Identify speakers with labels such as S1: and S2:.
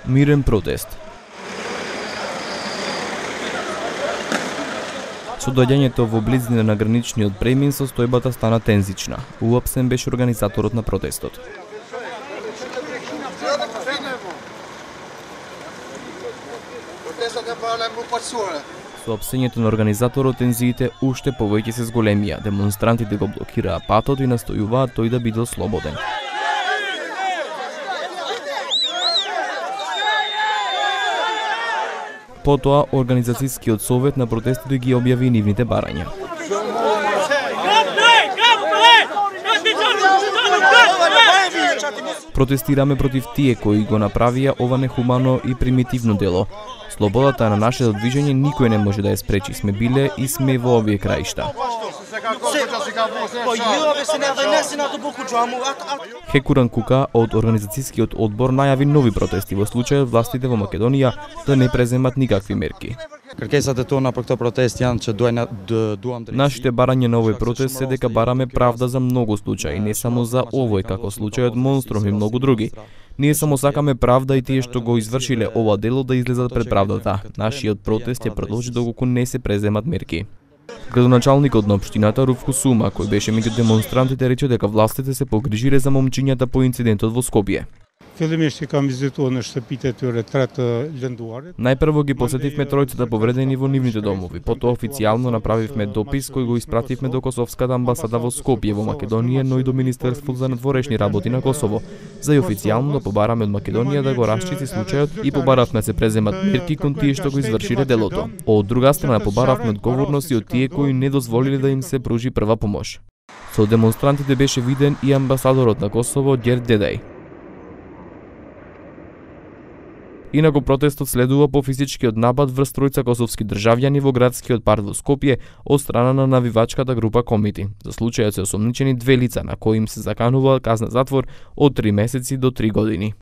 S1: Мирен протест. Со доаѓањето во близина на граничниот премин состојбата стана тензична. Уапсен беше организаторот на протестот. Соопштењето на организаторот тензиите уште повеќе се зголемија. Демонстрантите го блокираа патот и настојуваат тој да биде слободен. Потоа, Организацијскиот совет на протестите ги објави нивните барања. Протестираме против тие кои го направија ова нехумано и примитивно дело. Слободата на нашето движење никој не може да ја спречи. Сме биле и сме во овие краишта. Хекуран Кука од Организацијскиот одбор најави нови протести во случајот властите во Македонија да не преземат никакви мерки. Нашите барања на овој протест се дека бараме правда за многу случаи, не само за овој како случајот Монстром и многу други. Ние само сакаме правда и тие што го извршиле ова дело да излезат пред правдата. Нашиот протест ќе продолжи доколку не се преземат мерки. Градоначалникот на општината Руф Кусума, кој беше меѓу демонстрантите, рече дека властите се погрижиле за момчињата по инцидентот во Скопје. Најпрво ги посетивме тројцата повредени во нивните домови, потоа официјално направивме допис кој го испративме до Косовската амбасада во Скопје во Македонија, но и до Министерството за надворешни работи на Косово, за и официјално да побараме од Македонија да го расчисти случајот и побаравме да се преземат мерки кон тие што го извршиле делото. Од друга страна побаравме одговорност и од тие кои не дозволиле да им се пружи прва помош. Со демонстрантите беше виден и амбасадорот на Косово Ѓерд Дедај. Инаку протестот следува по физичкиот напад врз тројца косовски државјани во градскиот парк во Скопје од страна на навивачката група Комити. За случајот се осомничени 2 лица на кои им се заканува казна затвор од 3 месеци до 3 години.